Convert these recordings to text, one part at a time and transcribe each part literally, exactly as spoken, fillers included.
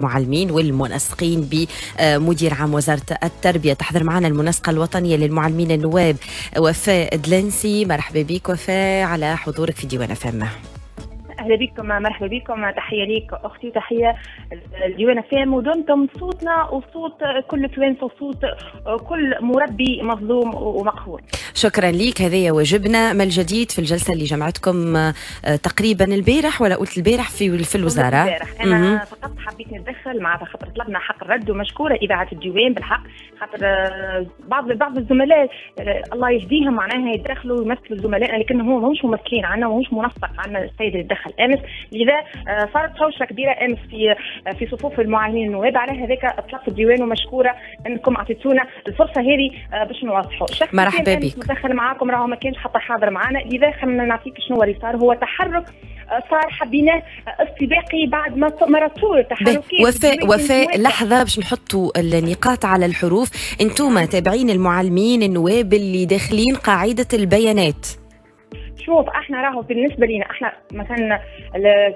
المعلمين والمنسقين بمدير عام وزارة التربية. تحضر معنا المنسقة الوطنية للمعلمين النواب وفاء دلنسي. مرحبا بك وفاء على حضورك في ديوان أف أم. اهلا بكم، مرحبا بكم، تحية ليك اختي وتحية لديوان أف أم، ودمتم صوتنا وصوت كل توانس وصوت كل مربي مظلوم ومقهور. شكرا ليك، هذا واجبنا. ما الجديد في الجلسة اللي جمعتكم تقريبا البارح ولا قلت البارح في في الوزارة؟ البارح انا فقط حبيت نتدخل مع خاطر طلبنا حق الرد، ومشكوره اذاعة الديوان بالحق، خاطر بعض بعض الزملاء الله يهديهم معناها يدخلوا ويمثلوا زملائنا، لكن هو ماهوش ممثلين عنا وماهوش منسق عنا السيد اللي دخل امس، لذا صارت شوشه كبيرة امس في في صفوف المعلمين النواب. على هذاك طلبت الديوان ومشكوره انكم اعطيتونا الفرصة هذه باش نوضحوا. مرحبا بك. مدخل معاكم راهو ما كانش حتى حاضر معنا، لذا خلينا نعطيك شنو اللي صار. هو تحرك صار حبيناه استباقي بعد ما مرتوا التحركات. وفاء وفاء لحظة باش نحطوا النقاط على الحروف. انتم تابعين المعلمين النواب اللي داخلين قاعدة البيانات. شوف احنا راهو بالنسبة لنا احنا مثلا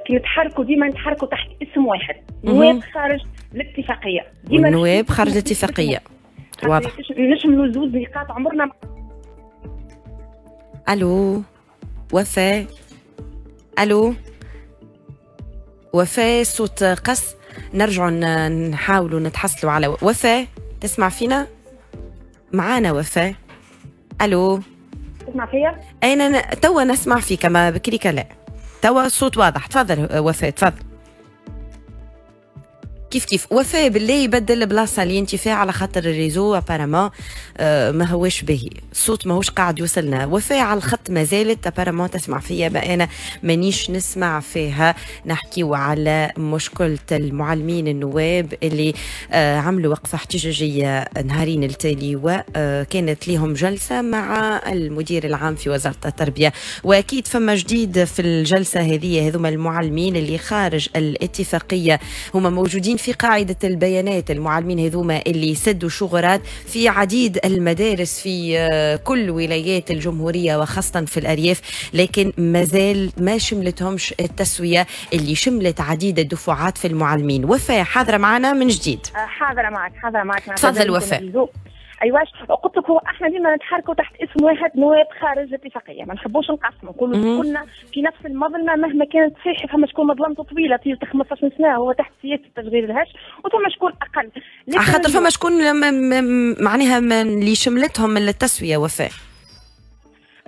كي نتحركوا ديما نتحركوا تحت اسم واحد، نواب خارج الاتفاقية. ديما نواب خارج الاتفاقية، واضح. نشملوا زوز نقاط عمرنا. الو وفاء، الو وفاء، صوت قص. نرجعوا نحاولوا نتحصلوا على وفاء. تسمع فينا؟ معانا وفاء؟ الو تسمع فيا؟ انا توا نسمع فيك، ما بكري لا. توا الصوت واضح، تفضل وفاء تفضل. كيف كيف وفاء بالله يبدل البلاصة اللي انت فيها على خاطر ال réseau apparemment آه ما هوش باهي، الصوت ماهوش قاعد يوصلنا. وفاء على الخط ما زالت apparemment تسمع فيا، ما انا مانيش نسمع فيها. نحكيو على مشكلة المعلمين النواب اللي آه عملوا وقفه احتجاجية نهارين التالي، وكانت لهم جلسه مع المدير العام في وزارة التربية، واكيد فما جديد في الجلسة هذه. هذوما المعلمين اللي خارج الاتفاقية هما موجودين في قاعدة البيانات، المعلمين هذوما اللي سدوا شغرات في عديد المدارس في كل ولايات الجمهورية وخاصة في الأرياف، لكن مازال ما شملتهمش التسوية اللي شملت عديد الدفعات في المعلمين. وفاء حاضرة معنا من جديد. حاضرة معك، حاضرة معك. تفضل وفاء. ايواش قلت لك، هو احنا ديما نتحركوا تحت اسم واحد، نواب خارج الاتفاقية، ما نحبوش نقسموا، نقولوا كلنا في نفس المظلمة مهما كانت صحيح. فما شكون مظلمته طويلة في خمسطاش سنة هو تحت سياسة التشغيل الهش، وثم شكون اقل. خاطر فما شكون معناها اللي شملتهم التسوية وفاء.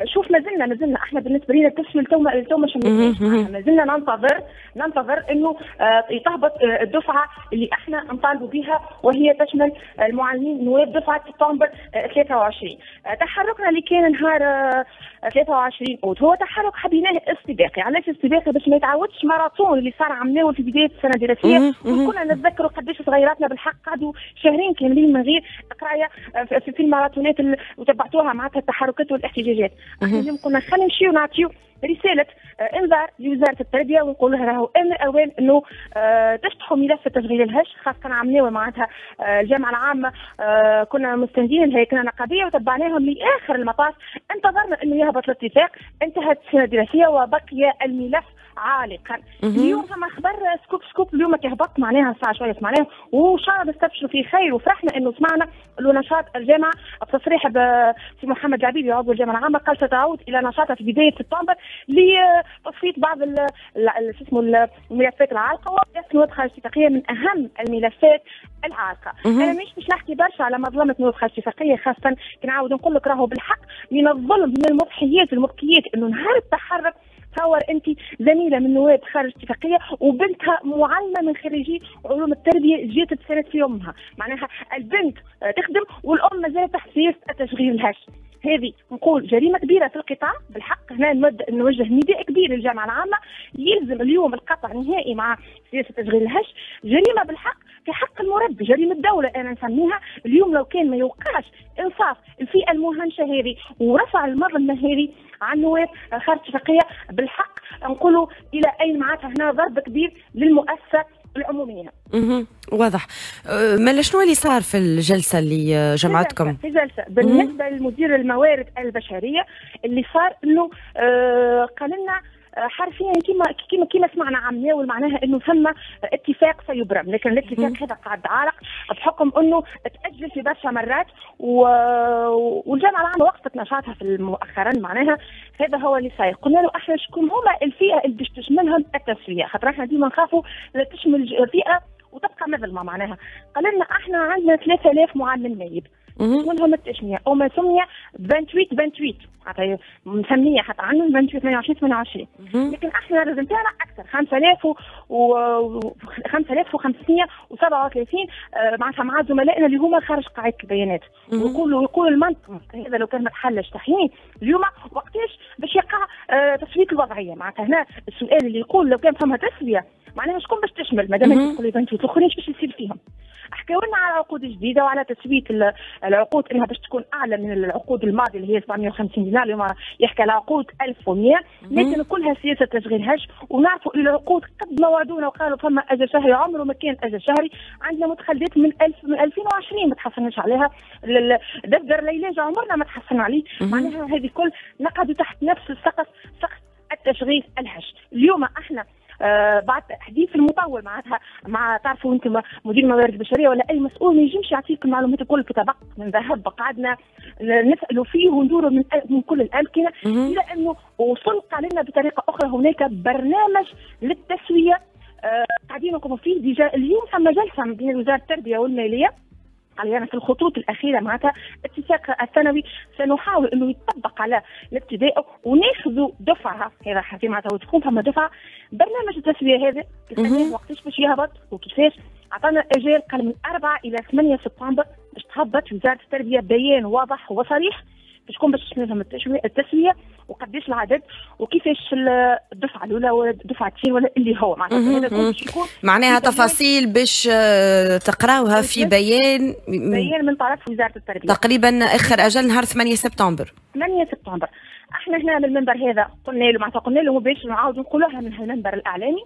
شوف مازلنا مازلنا احنا بالنسبة لنا التسوية التو التو ما شملتناش، مازلنا ننتظر ننتظر انه آه تهبط آه الدفعة اللي احنا نطالبوا بها، وهي تشمل المعلمين نواب دفعه سبتمبر آه ثلاثة وعشرين. آه تحركنا اللي كان نهار آه ثلاثة وعشرين اوت هو تحرك حبيناه استباقي. علاش استباقي؟ باش ما يتعودش ماراثون اللي صار عملناه في بداية السنة الدراسية، وكنا نتذكروا قداش صغيراتنا بالحق قعدوا شهرين كاملين من غير قرايه في الماراثونات وتبعتوها معناتها التحركات والاحتجاجات. احنا اليوم قلنا خلينا نمشيو نعطيو رسالة انذار لوزارة التربية ونقول لها راهو ان الاوان انه آه تفتحوا ملف التشغيل الهش، خاصة عملناه معناتها آه الجامعة العامة آه كنا مستندين الهيكله النقابيه وتبعناهم لاخر المطاف، انتظرنا انه يهبط الاتفاق، انتهت السنة الدراسية وبقي الملف عالقا. اليوم فما خبر scoop scoop اليوم كي هبط معناها الساعة شوية سمعناه وان شاء الله نستبشروا فيه خير، وفرحنا انه سمعنا انه نشاط الجامعة بتصريح سي محمد العبيدي عضو الجامعة العامة قال ستعود الى نشاطها في بداية سبتمبر لتصفيه بعض شو اسمه الملفات العالقة، وملف نواب خارج الاتفاقية من اهم الملفات العالقة. انا مش باش نحكي برشا على مظلمة نواب خارج الاتفاقية، خاصة كي نعاود نقول لك راهو بالحق من الظلم من المضحيات المبكيات انه نهار التحرك تصور انت زميله من نواب خارج اتفاقية وبنتها معلمه من خريجي علوم التربية جات تساند في امها، معناها البنت تخدم والام مازالت تحت سياسة التشغيل الهش. هذه نقول جريمة كبيرة في القطاع بالحق. هنا نوجه نداء كبير للجامعة العامة، يلزم اليوم القطع نهائي مع سياسة تشغيل الهش. جريمة بالحق في حق المربي، جريمة دولة انا نسميها اليوم. لو كان ما يوقعش انصاف الفئة المهمشه هذه ورفع المظلمة هذه عن نواب خارج اتفاقية بالحق نقولوا الى اين معناتها هنا ضرب كبير للمؤسسه العمومية. اها واضح. ما شنو اللي صار في الجلسة اللي جمعتكم؟ في جلسه بالنسبة للمدير الموارد البشرية اللي صار انه آه قال لنا حرفيا كما كما كما سمعنا عام ناول معناها انه ثم اتفاق سيبرم، لكن الاتفاق هذا قاعد عالق بحكم انه تاجل في برشا مرات، و... والجامعة العامة وقفت نشاطها في مؤخرا معناها هذا هو اللي صاير. قلنا له احنا شكون هما الفئة اللي باش تشملهم التسوية، خاطر احنا ديما نخافوا لا تشمل فئة وتبقى مظلمة معناها. قال لنا احنا عندنا ثلاثة آلاف معلم نايب منهم التشميع او ما سمي ثمانية وعشرين ثمانية وعشرين، حتى مسميه حتى عندهم ثمانية وعشرين ثمانية وعشرين ثمانية وعشرين، لكن احنا الرزم تاعنا اكثر خمسة آلاف و خمسة آلاف وخمسمية وسبعة وثلاثين معناتها مع زملائنا اللي هما خارج قاعدة البيانات. ويقولوا يقول المنطق هذا لو كان ما تحلش تحيين اليوم وقتاش باش يقع تسويه الوضعية معناتها. هنا السؤال اللي يقول لو كان فما تسويه معناها شكون باش تشمل، مادام انت تقول لي الاخرين باش يصير فيهم. حكاو لنا على عقود جديدة وعلى تسويه العقود انها باش تكون اعلى من العقود الماضية اللي هي سبعمية وخمسين دينار، اليوم يحكي على عقود ألف ومية، لكن كلها سياسة تشغيل هش. ونعرفوا العقود قد ما وعدونا وقالوا فما اجل شهري، عمره ما كان اجل شهري. عندنا متخلفات من ألف من ألفين وعشرين ما تحصلناش عليها، دفتر العلاج عمرنا ما تحصلنا عليه. معناها هذه كل نقعدوا تحت نفس السقف، سقف التشغيل الهش. اليوم احنا آه بعد تحديث المطول معناتها مع تعرفوا انتم مدير الموارد البشرية ولا اي مسؤول ما ينجمش يعطيك المعلومات الكل في طبق من ذهب، قعدنا نسالوا فيه وندوروا من من كل الامكنة، الى انه وصل لنا بطريقة اخرى هناك برنامج للتسويه آه قاعدين نقوموا فيه. déjà اليوم ثم جلسه بين وزارة التربية والمالية يعني في الخطوط الاخيرة معناتها اتفاق الثانوي سنحاول انه يطبق على الابتدائي وناخذوا دفعه، هذا حكي معناتها وتكون فما دفعه. برنامج التسوية هذا وقتاش باش يهبط وكيفاش؟ عطانا اجال قال من أربعة الى ثمانية سبتمبر باش تهبط وزارة التربية بيان واضح وصريح باش تكون باش تشملهم التسوية وقداش العدد وكيفاش الدفعة الاولى ولا الدفعة الثانية ولا اللي هو معناتها هذا كل يكون معناها تفاصيل باش تقراوها في بيان بيان من طرف وزارة التربية تقريبا اخر اجل نهار ثمانية سبتمبر. ثمانية سبتمبر احنا هنا من المنبر هذا قلنا له معناتها قلنا له باش نعاود نقولوها من المنبر الاعلامي،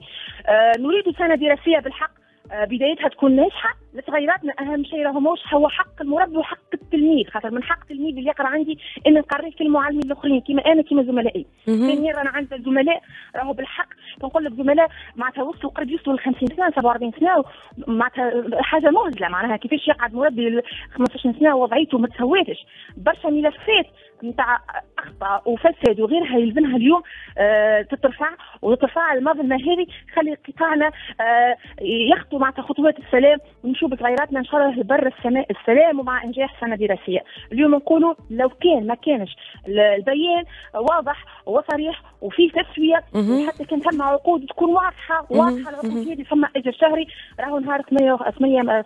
آه نريد سنة دراسية بالحق بدايتها تكون ناجحة لصغيراتنا. اهم شيء راهو ماهوش هو حق المربي وحق التلميذ، خاطر من حق التلميذ اللي يقرا عندي ان نقريه في المعلمين الاخرين كيما انا كيما زملائي. ثانيا رانا عندنا زملاء راهو بالحق نقول لك زملاء معناتها وصلوا قريب يوصلوا ل خمسين سنة سبعة وأربعين سنة، معناتها حاجة مهزله معناها كيفاش يقعد مربي خمسطاش سنة ووضعيته ما تسواتش. برشا ملفات نتاع اخطاء وفساد وغيرها يلزمها اليوم آه تترفع وتترفع المظلمة هذه، خلي قطاعنا آه يخطو معناتها خطوات السلام ونشوف صغيراتنا ان شاء الله بر السماء السلام ومع انجاح سنة دراسية. اليوم نقولوا لو كان ما كانش البيان واضح وصريح وفيه تسويه وحتى كان ثم عقود تكون واضحة واضحة العقود هذه ثم اجل شهري، راهو نهار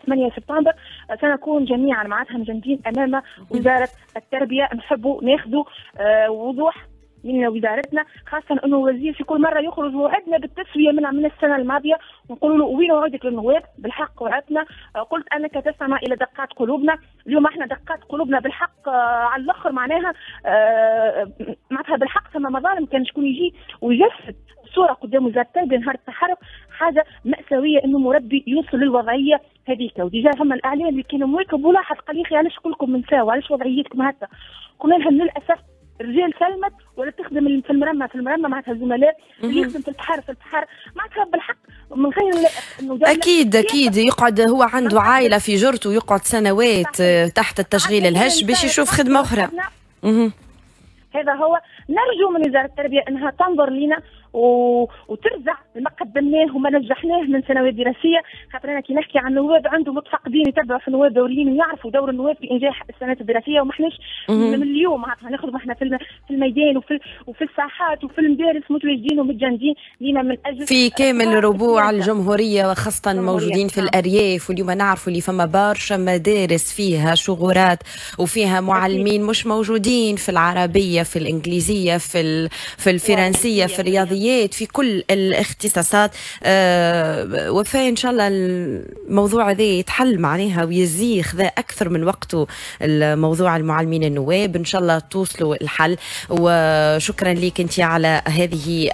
ثمانية سبتمبر سنكون جميعا معناتها مجندين امام وزارة التربية. نحبوا ناخذوا آه وضوح من وزارتنا، خاصة أنه الوزير في كل مرة يخرج وعدنا بالتسوية من من السنة الماضية ونقولوا له وين وعدك للنواب؟ بالحق وعدنا، قلت أنك تستمع إلى دقات قلوبنا، اليوم احنا دقات قلوبنا بالحق على الآخر معناها معناتها بالحق ثم مظالم كان شكون يجي ويجسد صورة قدام وزارة التربية نهار التحرك، حاجة مأساوية أنه مربي يوصل للوضعية هذيك. و déjà ثم الإعلام اللي كانوا مواكب ولاحظ قال يا أخي علاش كلكم نساو علاش وضعيتكم هكا؟ قلنا لهم للأسف الرجال سلمت ولا تخدم في المرمى في المرمى معناتها الزملاء اللي يخدم في البحر في البحر معناتها بالحق من غير انه اكيد اكيد يقعد هو عنده عائلة في جرته ويقعد سنوات تحت التشغيل الهش باش يشوف خدمة اخرى. هذا هو نرجو من وزارة التربية انها تنظر لنا و... وترجع ما قدمناه وما نجحناه من سنوات دراسية، خاطر انا كي نحكي عن النواب عندهم متفقدين يتبعوا في النواب دوريين ويعرفوا دور النواب في انجاح السنوات الدراسية، وما احناش من اليوم معناتها نخدموا احنا في في الميدان وفي وفي الساحات وفي المدارس متواجدين ومتجندين لينا من اجل في كامل ربوع الجمهورية وخاصة موجودين في الارياف. واليوم نعرفوا اللي فما برشا مدارس فيها شغورات وفيها معلمين مش موجودين في العربية في الانجليزية في في الفرنسية في الرياضيات في كل الاختصاصات. أه وفاء ان شاء الله الموضوع هذا يتحل معناها ويزي خذا اكثر من وقته الموضوع المعلمين النواب، ان شاء الله توصلوا الحل. وشكرا لك انت على هذه